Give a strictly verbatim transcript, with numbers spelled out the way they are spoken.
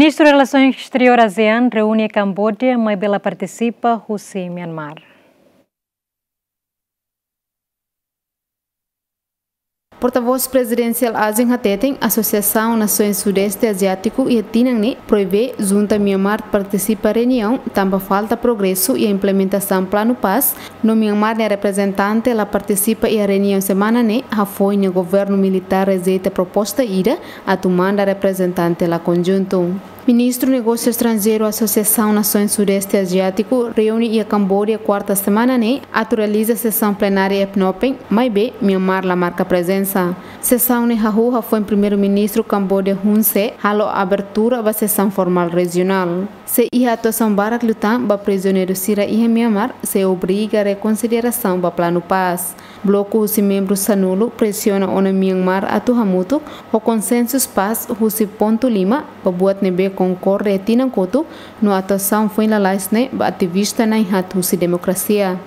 Ministru Relasaun Esteriór ASEAN reúne iha Kamboja, maibé la partisipa husi Myanmar. Portavós Prezidensiál ASEAN hateten Asosiasaun Nasoens Sudeste Aziátiku iha tinan ne'e proibí junta Myanmar partisipa reuniaun tanba falta progresu iha implementasaun planu pás, no Myanmar nia reprezentante la partisipa iha reuniaun semana ne'e hafoin nia governu militár rejeita proposta ida atu manda reprezentante la konjuntu. Ministru Negósiu Estranjeiru Asosiasaun Nasoens Sudeste Aziátiku reúne iha Kamboja kuarta semana ne'e atu realiza sesaun plenária iha Phnom Penh, maibé Myanmar la marka prezensa. Sesaun ne'e hahú hafoin Primeiru-Ministru Kamboja Hun Sen halo abertura ba sesaun formál rejionál. Se iha atuasaun barak liután ba prizioneiru sira iha Myanmar, sei obriga rekonsiderasaun ba planu pás. Bloku husi membru sanulu presiona ona Myanmar atu hamutuk ho konsensu pás husi pontu lima ba buat ne'ebé konkorda iha tinan kotuk, no atuasaun foin lalais ne'e ba ativista na'in-haat husi demokrasia.